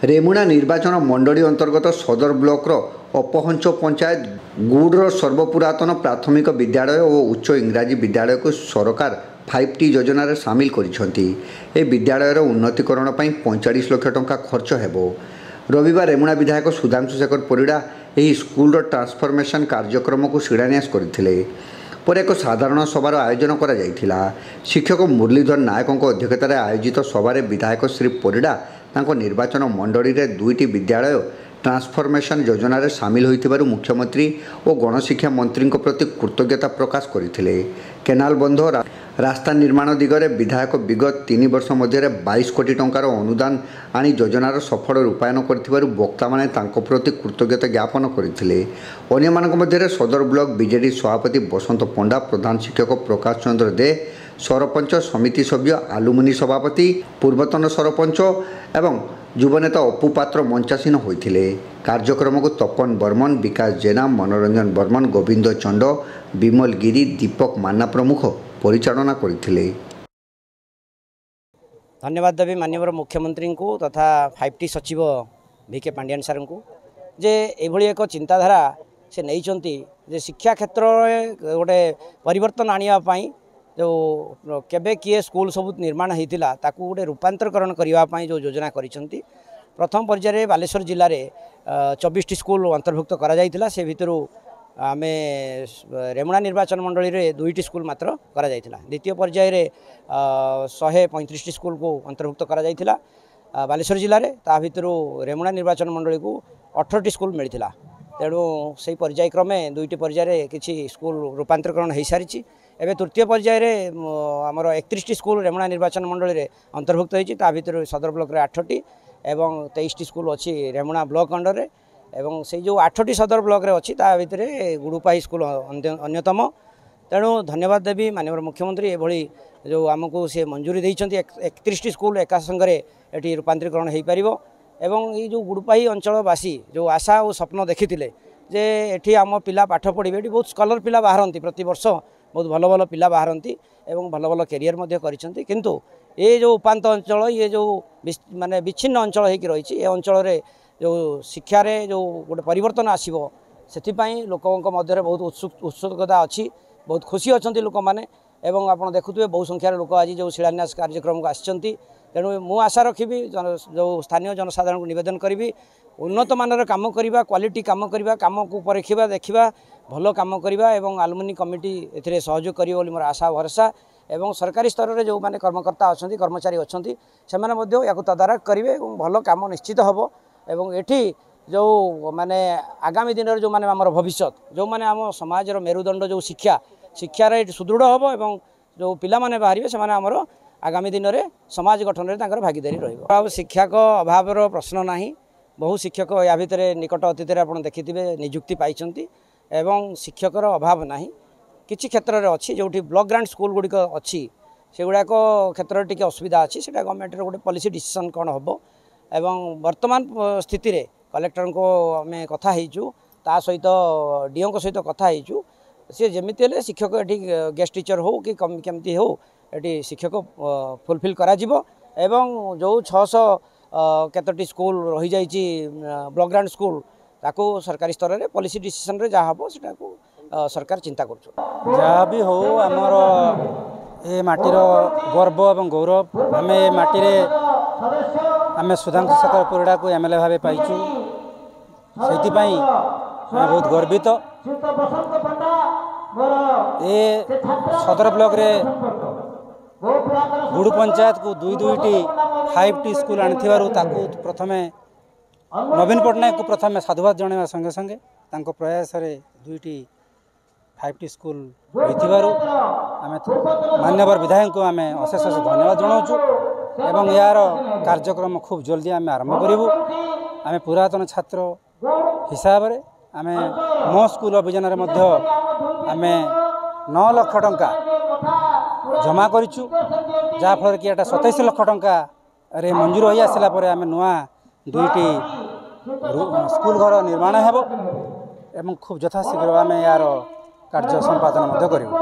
ରେମୁଣା ନିର୍ବାଚନ ମଣ୍ଡଳୀ ଅନ୍ତର୍ଗତ ସଦର ବ୍ଲକର ଅପହଞ୍ଚ ପଞ୍ଚାୟତ ଗୁଡ଼ର ସର୍ବପୁରାତନ ପ୍ରାଥମିକ ବିଦ୍ୟାଳୟ ଓ ଉଚ୍ଚ ଇଂରାଜୀ ବିଦ୍ୟାଳୟକୁ ସରକାର 5T ଯୋଜନାରେ ସାମିଲ କରିଛନ୍ତି। ଏହି ବିଦ୍ୟାଳୟର ଉନ୍ନତିକରଣ ପାଇଁ 45 ଲକ୍ଷ ଟଙ୍କା ଖର୍ଚ୍ଚ ହେବ। ରବିବାର ରେମୁଣା ବିଧାୟକ ସୁଧାଂଶୁ ଶେଖର ପରିଡ଼ା ଏହି ସ୍କୁଲର ଟ୍ରାନ୍ସଫର୍ମେସନ୍ କାର୍ଯ୍ୟକ୍ରମକୁ ଶିଳାନ୍ୟାସ କରିଥିଲେ। ପରେ ଏକ ସାଧାରଣ ସଭାର ଆୟୋଜନ କରାଯାଇଥିଲା। ଶିକ୍ଷକ ମୁରଲୀଧର ନାୟକଙ୍କ ଅଧ୍ୟକ୍ଷତାରେ ଆୟୋଜିତ ସଭାରେ ବିଧାୟକ ଶ୍ରୀ ପରିଡ଼ା ତାଙ୍କ ନିର୍ବାଚନ ମଣ୍ଡଳୀରେ ଦୁଇଟି ବିଦ୍ୟାଳୟ ଟ୍ରାନ୍ସଫର୍ମେସନ୍ ଯୋଜନାରେ ସାମିଲ ହୋଇଥିବାରୁ ମୁଖ୍ୟମନ୍ତ୍ରୀ ଓ ଗଣଶିକ୍ଷା ମନ୍ତ୍ରୀଙ୍କ ପ୍ରତି କୃତଜ୍ଞତା ପ୍ରକାଶ କରିଥିଲେ। କେନାଲ ବନ୍ଧ, ରାସ୍ତା ନିର୍ମାଣ ଦିଗରେ ବିଧାୟକ ବିଗତ 3 ବର୍ଷ ମଧ୍ୟରେ 22 କୋଟି ଟଙ୍କାର ଅନୁଦାନ ଆଣି ଯୋଜନାର ସଫଳ ରୂପାୟନ କରିଥିବାରୁ ବକ୍ତାମାନେ ତାଙ୍କ ପ୍ରତି କୃତଜ୍ଞତା ଜ୍ଞାପନ କରିଥିଲେ। ଅନ୍ୟମାନଙ୍କ ମଧ୍ୟରେ ସଦର ବ୍ଲକ ବିଜେଡି ସଭାପତି ବସନ୍ତ ପଣ୍ଡା, ପ୍ରଧାନ ଶିକ୍ଷକ ପ୍ରକାଶ ଚନ୍ଦ୍ର ଦେ, ସରପଞ୍ଚ, ସମିତି ସଭ୍ୟ, ଆଲୁମିନି ସଭାପତି, ପୂର୍ବତନ ସରପଞ୍ଚ ଏବଂ ଯୁବନେତା ଅପୁ ପାତ୍ର ମଞ୍ଚାସୀନ ହୋଇଥିଲେ। କାର୍ଯ୍ୟକ୍ରମକୁ ତପନ ବର୍ମନ, ବିକାଶ ଜେନା, ମନୋରଞ୍ଜନ ବର୍ମନ, ଗୋବିନ୍ଦ ଚଣ୍ଡ, ବିମଲ ଗିରି, ଦୀପକ ମାନ୍ନା ପ୍ରମୁଖ ପରିଚାଳନା କରିଥିଲେ। ଧନ୍ୟବାଦ ଦେବି ମାନ୍ୟବର ମୁଖ୍ୟମନ୍ତ୍ରୀଙ୍କୁ ତଥା 5T ସଚିବ ଭି କେ ପାଣ୍ଡିଆନ ସାର୍ଙ୍କୁ ଯେ ଏଭଳି ଏକ ଚିନ୍ତାଧାରା ସେ ନେଇଛନ୍ତି ଯେ ଶିକ୍ଷା କ୍ଷେତ୍ରରେ ଗୋଟେ ପରିବର୍ତ୍ତନ ଆଣିବା ପାଇଁ, ଯେଉଁ କେବେ କିଏ ସ୍କୁଲ ସବୁ ନିର୍ମାଣ ହେଇଥିଲା ତାକୁ ଗୋଟେ ରୂପାନ୍ତରୀକରଣ କରିବା ପାଇଁ ଯେଉଁ ଯୋଜନା କରିଛନ୍ତି। ପ୍ରଥମ ପର୍ଯ୍ୟାୟରେ ବାଲେଶ୍ୱର ଜିଲ୍ଲାରେ 24ଟି ସ୍କୁଲ ଅନ୍ତର୍ଭୁକ୍ତ କରାଯାଇଥିଲା। ସେ ଭିତରୁ ଆମେ ରେମୁଣା ନିର୍ବାଚନ ମଣ୍ଡଳୀରେ 2ଟି ସ୍କୁଲ ମାତ୍ର କରାଯାଇଥିଲା। ଦ୍ୱିତୀୟ ପର୍ଯ୍ୟାୟରେ 135ଟି ସ୍କୁଲକୁ ଅନ୍ତର୍ଭୁକ୍ତ କରାଯାଇଥିଲା ବାଲେଶ୍ୱର ଜିଲ୍ଲାରେ। ତା ଭିତରୁ ରେମୁଣା ନିର୍ବାଚନ ମଣ୍ଡଳୀକୁ 18ଟି ସ୍କୁଲ ମିଳିଥିଲା। ତେଣୁ ସେଇ ପର୍ଯ୍ୟାୟକ୍ରମେ 2ଟି ପର୍ଯ୍ୟାୟରେ କିଛି ସ୍କୁଲ ରୂପାନ୍ତରୀକରଣ ହୋଇସାରିଛି। ଏବେ ତୃତୀୟ ପର୍ଯ୍ୟାୟରେ ଆମର 31ଟି ସ୍କୁଲ ରେମୁଣା ନିର୍ବାଚନ ମଣ୍ଡଳୀରେ ଅନ୍ତର୍ଭୁକ୍ତ ହୋଇଛି। ତା ଭିତରୁ ସଦର ବ୍ଲକରେ 8ଟି ଏବଂ 23ଟି ସ୍କୁଲ ଅଛି ରେମୁଣା ବ୍ଲକ ଅଣ୍ଡରରେ। ଏବଂ ସେଇ ଯେଉଁ 8ଟି ସଦର ବ୍ଲକରେ ଅଛି, ତା ଭିତରେ ଗୁଡ଼ୁପାହି ସ୍କୁଲ ଅନ୍ୟତମ। ତେଣୁ ଧନ୍ୟବାଦ ଦେବି ମାନ୍ୟବର ମୁଖ୍ୟମନ୍ତ୍ରୀ, ଏଭଳି ଯେଉଁ ଆମକୁ ସେ ମଞ୍ଜୁରୀ ଦେଇଛନ୍ତି, 31ଟି ସ୍କୁଲ ଏକା ସାଙ୍ଗରେ ଏଠି ରୂପାନ୍ତରୀକରଣ ହୋଇପାରିବ। ଏବଂ ଏଇ ଯେଉଁ ଗୁଡ଼ୁପାହି ଅଞ୍ଚଳବାସୀ ଯେଉଁ ଆଶା ଓ ସ୍ୱପ୍ନ ଦେଖିଥିଲେ ଯେ ଏଠି ଆମ ପିଲା ପାଠ ପଢ଼ିବେ, ଏଠି ବହୁତ ସ୍କଲର ପିଲା ବାହାରନ୍ତି, ପ୍ରତିବର୍ଷ ବହୁତ ଭଲ ଭଲ ପିଲା ବାହାରନ୍ତି ଏବଂ ଭଲ ଭଲ କ୍ୟାରିୟର ମଧ୍ୟ କରିଛନ୍ତି। କିନ୍ତୁ ଏ ଯେଉଁ ଉପାନ୍ତ ଅଞ୍ଚଳ, ଇଏ ଯେଉଁ ମାନେ ବିଚ୍ଛିନ୍ନ ଅଞ୍ଚଳ ହେଇକି ରହିଛି, ଏ ଅଞ୍ଚଳରେ ଯେଉଁ ଶିକ୍ଷାରେ ଯେଉଁ ଗୋଟେ ପରିବର୍ତ୍ତନ ଆସିବ, ସେଥିପାଇଁ ଲୋକଙ୍କ ମଧ୍ୟରେ ବହୁତ ଉତ୍ସୁକତା ଅଛି, ବହୁତ ଖୁସି ଅଛନ୍ତି ଲୋକମାନେ। ଏବଂ ଆପଣ ଦେଖୁଥିବେ, ବହୁ ସଂଖ୍ୟାରେ ଲୋକ ଆଜି ଯେଉଁ ଶିଳାନ୍ୟାସ କାର୍ଯ୍ୟକ୍ରମକୁ ଆସିଛନ୍ତି। ତେଣୁ ମୁଁ ଆଶା ରଖିବି, ଯେଉଁ ସ୍ଥାନୀୟ ଜନସାଧାରଣଙ୍କୁ ନିବେଦନ କରିବି, ଉନ୍ନତମାନର କାମ କରିବା, କ୍ୱାଲିଟି କାମ କରିବା, କାମକୁ ପରୀଖିବା, ଦେଖିବା, ଭଲ କାମ କରିବା ଏବଂ ଆଲୁମିନି କମିଟି ଏଥିରେ ସହଯୋଗ କରିବ ବୋଲି ମୋର ଆଶା ଭରସା। ଏବଂ ସରକାରୀ ସ୍ତରରେ ଯେଉଁମାନେ କର୍ମକର୍ତ୍ତା ଅଛନ୍ତି, କର୍ମଚାରୀ ଅଛନ୍ତି, ସେମାନେ ମଧ୍ୟ ୟାକୁ ତଦାରଖ କରିବେ ଏବଂ ଭଲ କାମ ନିଶ୍ଚିତ ହେବ। ଏବଂ ଏଠି ଯେଉଁ ମାନେ ଆଗାମୀ ଦିନରେ ଯେଉଁମାନେ ଆମର ଭବିଷ୍ୟତ, ଯେଉଁମାନେ ଆମ ସମାଜର ମେରୁଦଣ୍ଡ, ଯେଉଁ ଶିକ୍ଷା, ଶିକ୍ଷାରେ ଏଠି ସୁଦୃଢ଼ ହେବ ଏବଂ ଯେଉଁ ପିଲାମାନେ ବାହାରିବେ, ସେମାନେ ଆମର ଆଗାମୀ ଦିନରେ ସମାଜ ଗଠନରେ ତାଙ୍କର ଭାଗିଦାରୀ ରହିବ। ଆଉ ଶିକ୍ଷକ ଅଭାବର ପ୍ରଶ୍ନ ନାହିଁ। ବହୁ ଶିକ୍ଷକ ୟା ଭିତରେ ନିକଟ ଅତୀତରେ ଆପଣ ଦେଖିଥିବେ ନିଯୁକ୍ତି ପାଇଛନ୍ତି ଏବଂ ଶିକ୍ଷକର ଅଭାବ ନାହିଁ। କିଛି କ୍ଷେତ୍ରରେ ଅଛି, ଯେଉଁଠି ବ୍ଲକ ଗ୍ରାଣ୍ଟ ସ୍କୁଲ ଗୁଡ଼ିକ ଅଛି, ସେଗୁଡ଼ାକ କ୍ଷେତ୍ରରେ ଟିକେ ଅସୁବିଧା ଅଛି। ସେଇଟା ଗଭର୍ଣ୍ଣମେଣ୍ଟର ଗୋଟେ ପଲିସି ଡିସିସନ୍ କ'ଣ ହେବ। ଏବଂ ବର୍ତ୍ତମାନ ସ୍ଥିତିରେ କଲେକ୍ଟରଙ୍କୁ ଆମେ କଥା ହେଇଛୁ, ତା ସହିତ ଡିଓଙ୍କ ସହିତ କଥା ହେଇଛୁ। ସିଏ ଯେମିତି ହେଲେ ଶିକ୍ଷକ ଏଠି ଗେଷ୍ଟ ଟିଚର ହେଉ କି କେମିତି ହେଉ, ଏଠି ଶିକ୍ଷକ ଫୁଲଫିଲ୍ କରାଯିବ। ଏବଂ ଯେଉଁ 600 କେତୋଟି ସ୍କୁଲ ରହିଯାଇଛି ବ୍ଲକ ଗ୍ରାଣ୍ଟ ସ୍କୁଲ, ତାକୁ ସରକାରୀ ସ୍ତରରେ ପଲିସି ଡିସିସନରେ ଯାହା ହେବ, ସେଟାକୁ ସରକାର ଚିନ୍ତା କରୁଛନ୍ତି। ଯାହା ବି ହଉ, ଆମର ଏ ମାଟିର ଗର୍ବ ଏବଂ ଗୌରବ। ଆମେ ଏ ମାଟିରେ ଆମେ ସୁଧାଂଶୁ ଶେଖର ପରିଡ଼ାକୁ ଏମ୍ ଏଲ୍ ଏ ଭାବେ ପାଇଛୁ, ସେଇଥିପାଇଁ ଆମେ ବହୁତ ଗର୍ବିତ। ଏ ସଦର ବ୍ଲକରେ ଗୁଡ଼ୁ ପଞ୍ଚାୟତକୁ ଦୁଇ ଦୁଇଟି 5T school ଆଣିଥିବାରୁ ତାକୁ ପ୍ରଥମେ ନବୀନ ପଟ୍ଟନାୟକକୁ ପ୍ରଥମେ ସାଧୁବାଦ ଜଣାଇବା ସଙ୍ଗେ ସଙ୍ଗେ ତାଙ୍କ ପ୍ରୟାସରେ ଦୁଇଟି 5T school ହୋଇଥିବାରୁ ଆମେ ମାନ୍ୟବର ବିଧାୟକଙ୍କୁ ଆମେ ଅଶେଷ ଅଶେଷ ଧନ୍ୟବାଦ ଜଣାଉଛୁ। ଏବଂ ଏହାର କାର୍ଯ୍ୟକ୍ରମ ଖୁବ୍ ଜଲ୍ଦି ଆମେ ଆରମ୍ଭ କରିବୁ। ଆମେ ପୁରାତନ ଛାତ୍ର ହିସାବରେ ଆମେ ମୋ ସ୍କୁଲ ଅଭିଯାନରେ ମଧ୍ୟ ଆମେ 9 ଲକ୍ଷ ଟଙ୍କା ଜମା କରିଛୁ, ଯାହାଫଳରେ କି ଏଇଟା 27 ଲକ୍ଷ ଟଙ୍କାରେ ମଞ୍ଜୁର ହୋଇ ଆସିଲା ପରେ ଆମେ ନୂଆ ଦୁଇଟି ସ୍କୁଲ ଘର ନିର୍ମାଣ ହେବ ଏବଂ ଖୁବ୍ ଯଥାଶୀଘ୍ର ଆମେ ଏହାର କାର୍ଯ୍ୟ ସମ୍ପାଦନ ମଧ୍ୟ କରିବୁ।